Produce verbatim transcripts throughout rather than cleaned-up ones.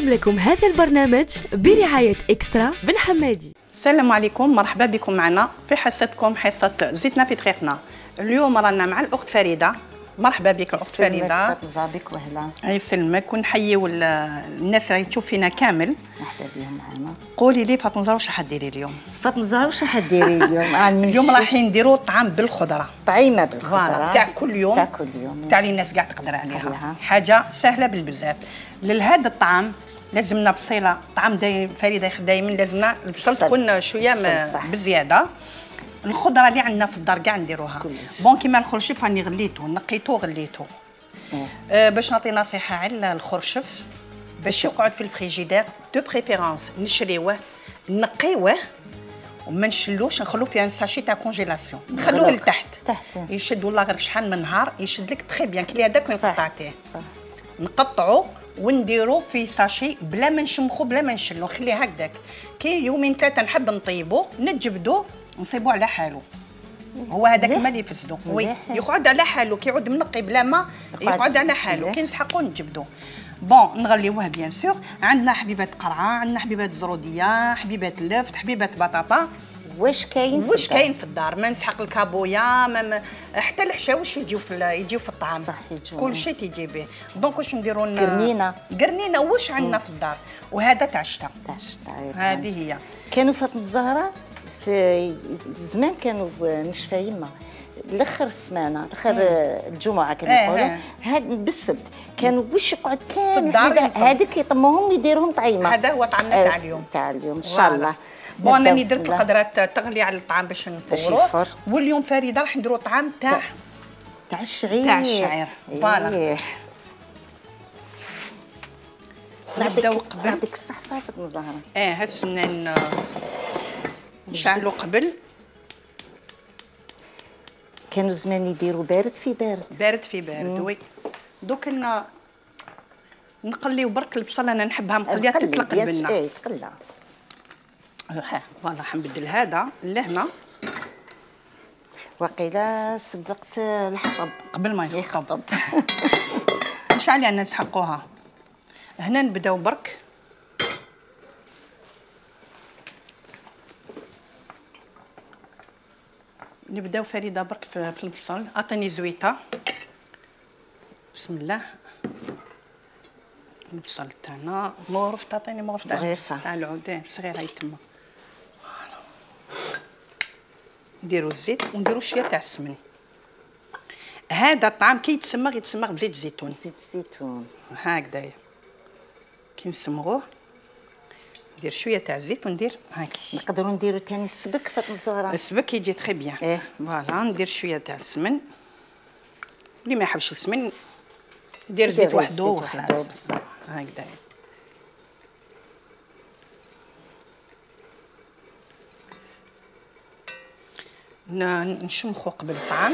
نقدم لكم هذا البرنامج برعاية إكسترا بن حمادي. السلام عليكم، مرحبا بكم معنا في حصتكم حصة زيتنا في طريقنا. اليوم رانا مع الأخت فريدة. مرحبا بك الأخت فريدة. تفضل بك وهلا. يسلمك ونحييو الناس اللي تشوف فينا كامل. مرحبا بهم معنا. قولي لي فاطمة زهر واش حديري اليوم؟ فاطمة زهر واش حديري اليوم؟ اليوم رايحين نديروا طعام بالخضرة. طعيمة بالخضرة. تاع كل يوم. تاع كل يوم. تاع اللي الناس كاع تقدر عليها. عليها. حاجة سهلة بالبزاف. لهذا الطعام لازمنا بصيله. طعام دايم فريده دايما لازمنا البصل تكون شويه بزياده. الخضره اللي عندنا في الدار كاع نديروها. بون كيما الخرشف راني غليته نقيته غليته. آه باش نعطي نصيحه على الخرشف باش يقعد في الفريجيدير دو بريفيرونس نشريوه نقيوه وما نشلوش نخلوه في ان ساشي تاع كونجيلاسيون نخلوه لتحت يشد والله غير شحال من نهار يشد لك تري بيان كلي هذاك وين قطعتيه نقطعو ونديرو في ساشي بلا ما نشمخو بلا ما نشلو نخليه هكذاك كي يومين ثلاثه نحب نطيبو نتجبدو نصيبو على حالو هو هذاك ما اللي يفسدو وي يقعد على حالو كي يعود منقي بلا ما يقعد على حالو كي نسحقو نجبدو بون نغليوه بيان سور عندنا حبيبات قرعه عندنا حبيبات زروديه حبيبات لفت حبيبات بطاطا واش كاين واش كاين في الدار ما نسحق الكابويا ما حتى الحشاوش يجيو في يجيو في الطعام صح يجيو كل شيء تيجي به دونك واش نديرو قرنينه قرنينه واش عندنا في الدار وهذا تاع الشتا تاع الشتا هذه هي كانوا فاطمه الزهراء في زمان كانوا نشفى يما الاخر السمانه الاخر الجمعه كما يقولوا هاد بالسبت كانوا واش يقعد كان هذيك يطموهم يديروهم طعيمه هذا هو طعمنا تاع اليوم تاع اليوم ان شاء الله بون انا درت القدرات تغلي على الطعام باش نفوروه واليوم فريده راح نديروا طعام تاع تاع الشعير تاع الشعير فوالا نبداو قبل يعطيك الصحه فاطمه زهره اه هالسنان نشعلوا قبل كانوا زمان يديروا بارد في بارد بارد في بارد وي دوك نقليو برك البصله انا نحبها مقليه تطلق البنه اي تقلع ها فوالا حنبدل هذا لهنا وقيلا سبقت الحطب قبل ما يخطب نشعل يعني نسحقوها هنا نبداو برك نبداو فريده برك في البصل عطيني زويته بسم الله البصل تاعنا مغرف تعطيني مغرف تاع مغرفه تاع العودين صغيره يتما فوالا نديرو الزيت ونديرو شويه تاع السمن هذا الطعام كي يتسمغ يتسمغ بزيت الزيتون زيت الزيتون هكذايا كي نسمغوه ندير شويه تاع الزيت وندير هاكي نقدروا نديروا ثاني السبك فاطمه الزهراء السبك يجي تري بيان ايه فوالا ندير شويه تاع السمن اللي ما يحبش السمن يدير زيت وحده وخلاص هكذا نشمخو قبل الطعام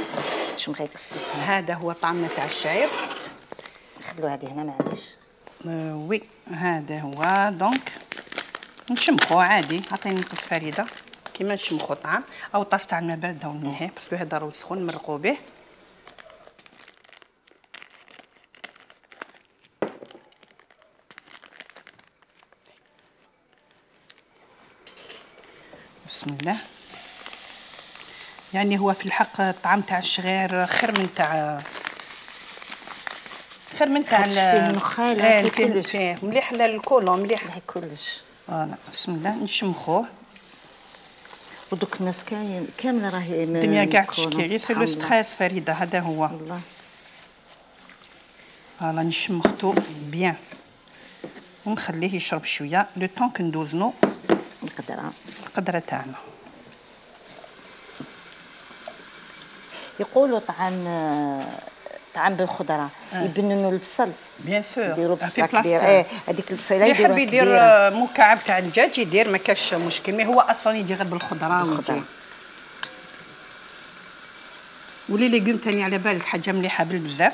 نشمخي كسكس هذا هو طعامنا تاع الشعير نخلو هذه هنا معليش آه وي هذا هو دونك نشمخو عادي عطيني نقص فريده كيما نشمخو طعام او طاس تاع الماء بارده وننهيه باسكو هذا راه سخون نمرقو به بسم الله يعني هو في الحق الطعام تاع الشغير خير من تاع خير من تاع فيه النخاله فيه كلش فيه مليح للكولون مليح مليح كلش فوالا بسم الله نشمخوه ودوك الناس كاين كامله راهي الدنيا كاع تشكي غير سي لو ستريس فريده هذا هو والله فوالا نشمختو بيان ونخليه يشرب شويه لو طون كندوزنو القدره القدره تاعنا يقولوا طعام طعام بالخضره آه. يبننوا البصل بيان سور يديروا بصله كبيره ايه هذيك البصيله يديروها يحب يدير مكعب تاع الدجاج يدير ما كاش مشكل مي هو اصلا يجي غير بالخضره بالخضره ولي ليغوم ثاني على بالك حاجه مليحه بالبزاف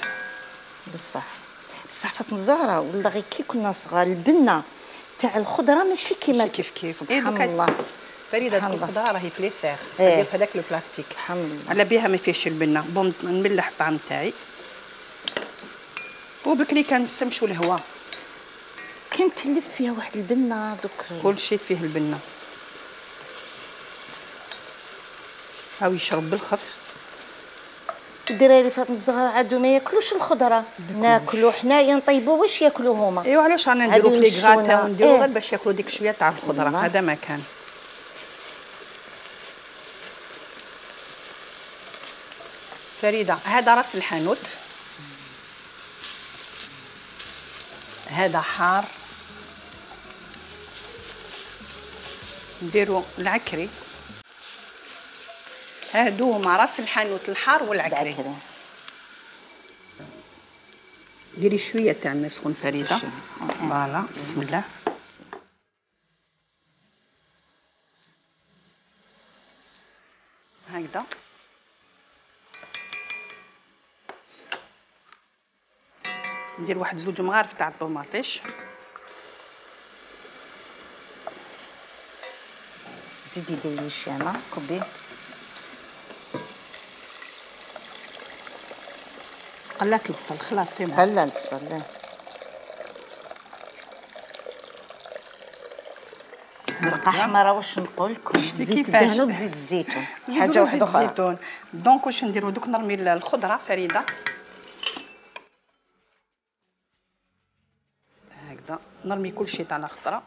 بصح بصح فاطمه الزهراء ولا غير كي كنا صغار البنه تاع الخضره ماشي كيما كيف كيف سبحان الله فريده الخضره راهي في ليسيغ سادير في هذاك البلاستيك سبحان الله على بها ما فيهش البنه بون نملح الطعام تاعي وبكري كنسمشوا الهواء كان تلفت فيها واحد البنه دوك كل شيء فيه البنه. هاو يشرب بالخف. الدراري فاطمه الزهراء عادو ما ياكلوش الخضره، ناكلو حنايا نطيبو واش ياكلو هما. ايوا علاش رانا نديرو في لي غاتا ونديرو غير باش ياكلو ديك شويه تاع الخضره. هذا ما كان. فريده هذا راس الحانوت، هذا حار، نديرو العكري. هادو هما راس الحانوت الحار والعكري. ديري شويه تاع الماء سخون فريده. فوالا بسم الله. هكذا ندير واحد زوج مغارف تاع الطوماطيش. زيدي ديري الشامه كبي. قلات البصل خلاص سي هلا البصل لا مرقه حمراء. واش نقول لكم زيت الدهن وزيت الزيتون حاجه واحده اخرى. الزيتون. دونك واش نديرو دوك نرمي الخضره فريده هكذا، نرمي كل شيء تاع الخضره.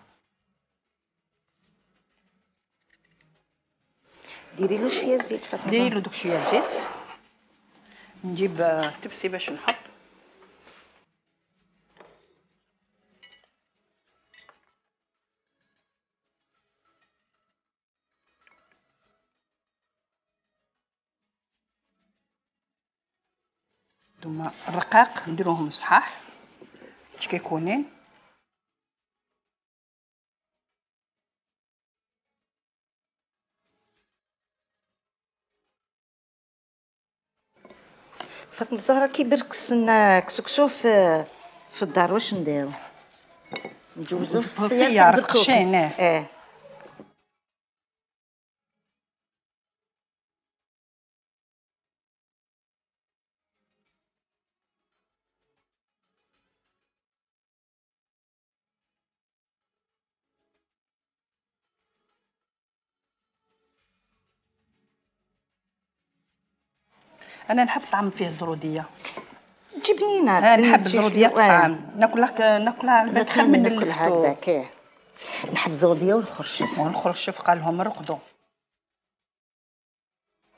ديري له شويه زيت فاطمه. ديري له دوك شويه زيت. نجيب تبسي باش نحط. ثم الرقاق نديروهم صحاح باش كيكونين. فاطمه الزهراء كي بركس لنا كسكسو في في الدار واش نديرو؟ نجوزو في الخيار رقشين. اه انا نحب طعم فيه الزروديه. جبنينه. اه نحب الزروديه في الطعام. ناكلها ناكلها على بالك خير من الفتو. هكاك نحب الزروديه والخرشف. والخرشف قال لهم رقدوا.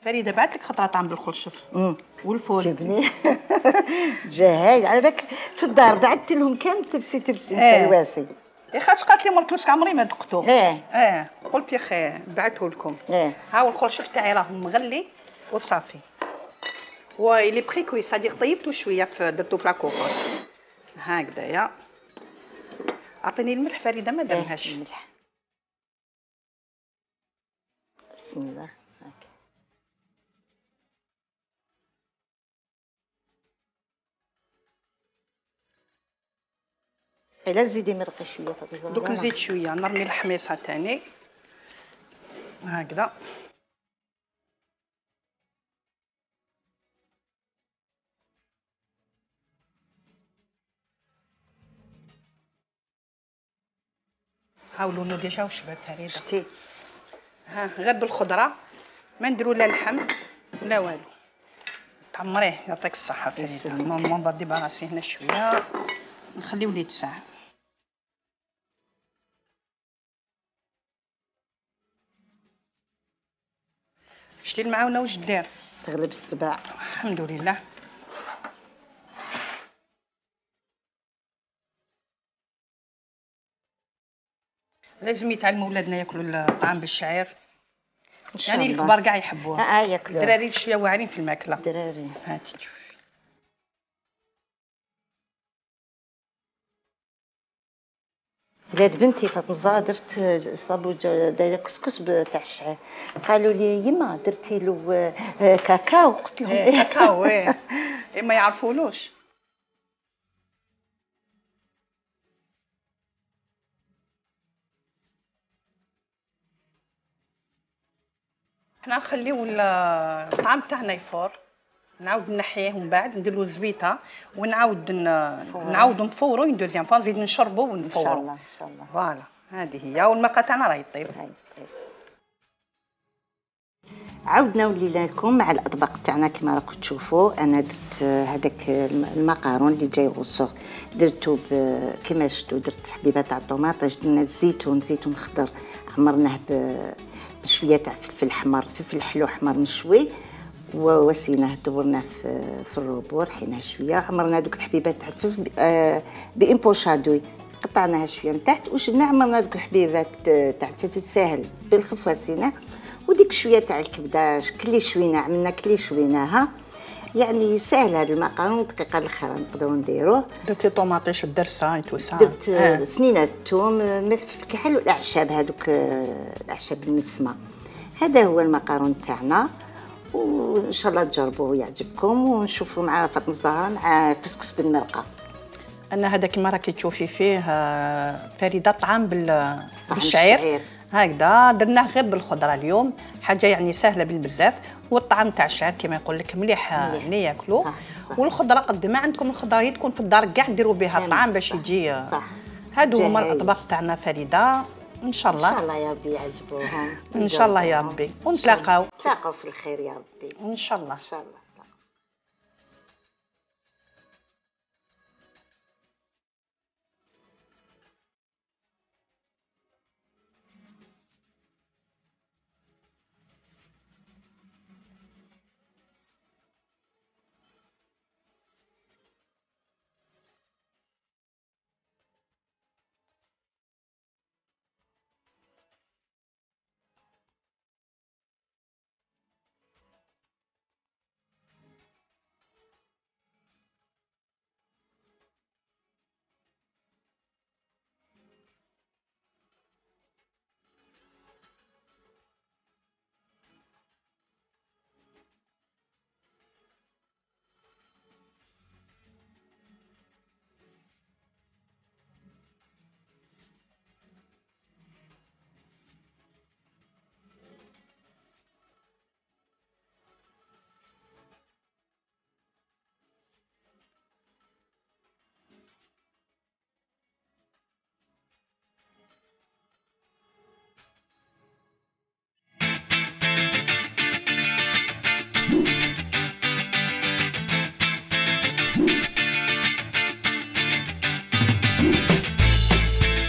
فريده بعث لك خطره طعم بالخرشف والفول. جبني جاهي على بالك في الدار بعثت لهم كامل تبسي تبسي اه. واسي يا خاطش قالت لي مركوش عمري ما دقتو. اه اه قلت يا اخي بعثه لكم. اه ها الخرشف تاعي راه مغلي وصافي. ويلي بخي كوي صديق طيبتو شويه في درتو في لاكوكور هكذايا. اعطيني الملح فريده ما درناش. الملح بسم الله. هاك الا زيدي مرقه شويه فاطمه. دوك نزيد شويه نرمي الحميصه تاني هكذا. هاو لونو ديجا وشباب فريده. شتي ها غير بالخضره ما نديرو لا لحم لا والو. تعمريه يعطيك الصحه فريده. نورمال بدي براسي هنا شويه نخليو ليه ساعه. شتي المعاونه واش دير؟ تغلب السباع الحمد لله. لازم يتعلموا ولادنا ياكلوا الطعام بالشعير. يعني الكبار كاع يحبوه. اه ياكلوه. الدراري شويه واعرين في الماكله. الدراري هاتي شوفي. ولاد بنتي فاطمه الزهراء درت صابو دايره كسكس تاع الشعير. قالوا لي يما درتي له كاكاو. قلت لهم ايه كاكاو. ايه ما يعرفولوش. حنا نخليو الطعام تاعنا يفور نعاود نحيه ومن بعد نديرو زويته ونعاود نعاودو نفورو اون دوزيام فوا نزيد نشربو ونفورو. ان شاء الله ان شاء الله. فوالا هذه هي، والمرقه تاعنا راهي طيب. عاودنا ولينا لكم مع الاطباق تاعنا كما راكم تشوفوا. انا درت هذاك المقارون اللي جاي غوصوغ درتو كما شفتوا، درت حبيبه تاع الطوماطيش، درنا الزيتون زيتون خضر عمرناه بشويه تاع فلفل احمر فلفل حلو احمر مشوي ووسيناه دورناه في في الروبور حيناه شويه، عمرنا دوك الحبيبات تاع الفلفل آه بامبوشادوي قطعناها شويه من تحت وشدنا عمرنا دوك الحبيبات تاع الفلفل ساهل بالخف وسيناه، وديك شويه تاع الكبده كلي شوينا عملنا كلي شويناها. يعني ساهل هذا المقارون، دقيقه الاخرى نقدروا نديروه. درتي طوماطيش الدرسه توسع، درت آه. سنينه الثوم الملح الكحل والاعشاب هذوك الاعشاب النسمه. هذا هو المقارون تاعنا، وان شاء الله تجربوه ويعجبكم، ونشوفوا مع فاطمه الزهراء مع كسكس بالمرقه. انا هذا كما راكي تشوفي فيه فريده طعام بالشعير هكذا، درناه غير بالخضره اليوم، حاجه يعني سهله بالبزاف، والطعام تاع الشعير كما يقول لك مليح اللي ياكلوا. والخضره قد ما عندكم الخضره تكون في الدار كاع ديروا بها الطعام باش يجي. صح. هادو هما الاطباق تاعنا فريده، ان شاء الله ان شاء الله يا ربي يعجبوهم ان شاء الله يا ربي، ونتلاقاو نتلاقاو في الخير يا ربي ان شاء الله ان شاء الله.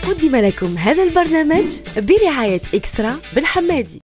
قدم لكم هذا البرنامج برعاية إكسترا بالحمادي.